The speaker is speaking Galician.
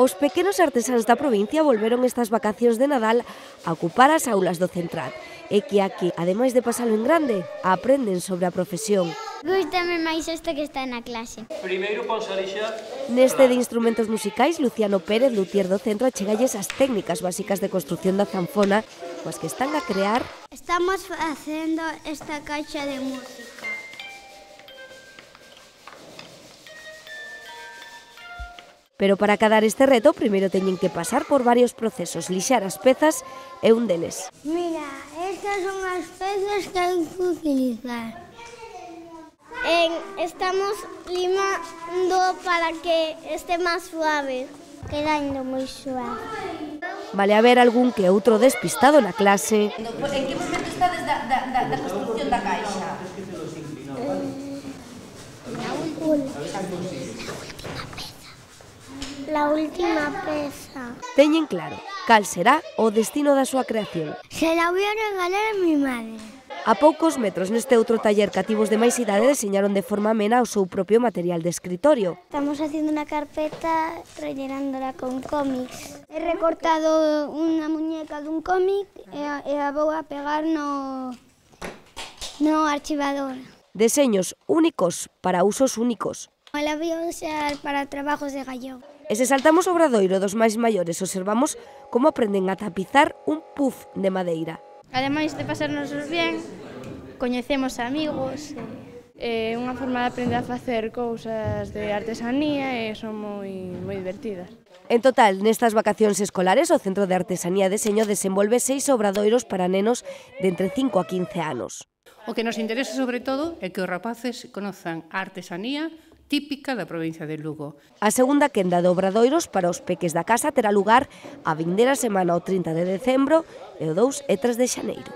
Os pequenos artesáns da provincia volveron estas vacacións de Nadal a ocupar as aulas do Central e que aquí, ademais de pasalo en grande, aprenden sobre a profesión. Gústame máis isto que está na clase. Primeiro ponse a lixar. Neste de instrumentos musicais, Luciano Pérez, luthier do centro, achegalles as técnicas básicas de construción da zanfona, coas que están a crear. Estamos facendo esta caixa de música. Pero para acadar este reto, primeiro teñen que pasar por varios procesos. Lixar as pezas é un deles. Mira, estas son as pezas que hai que utilizar. Estamos limando para que este máis suave. Quedando moi suave. Vale haber algún que outro despistado na clase. En que momento estades da construcción da caixa? La última peza. Teñen claro cal será o destino da súa creación. Se la voy a regalar a mi madre. A poucos metros neste outro taller cativos de máis idade deseñaron de forma amena o seu propio material de escritorio. Estamos haciendo una carpeta rellenándola con cómics. He recortado unha muñeca dun cómic e a vou a pegar no archivador. Deseños únicos para usos únicos. La voy a usar para trabajos de gallego. E se saltamos o obradoiro dos máis maiores, observamos como aprenden a tapizar un puff de madeira. Ademais de pasarnos ben, coñecemos amigos, é unha forma de aprender a facer cousas de artesanía e son moi divertidas. En total, nestas vacacións escolares, o Centro de Artesanía e Deseño desenvolve 6 obradoiros para nenos de entre 5 a 15 anos. O que nos interesa sobre todo é que os rapaces conozan a artesanía típica da provincia de Lugo. A segunda quenda de obradoiros para os peques da casa terá lugar a vindeira semana o 30 de decembro e o 2 e 3 de xaneiro.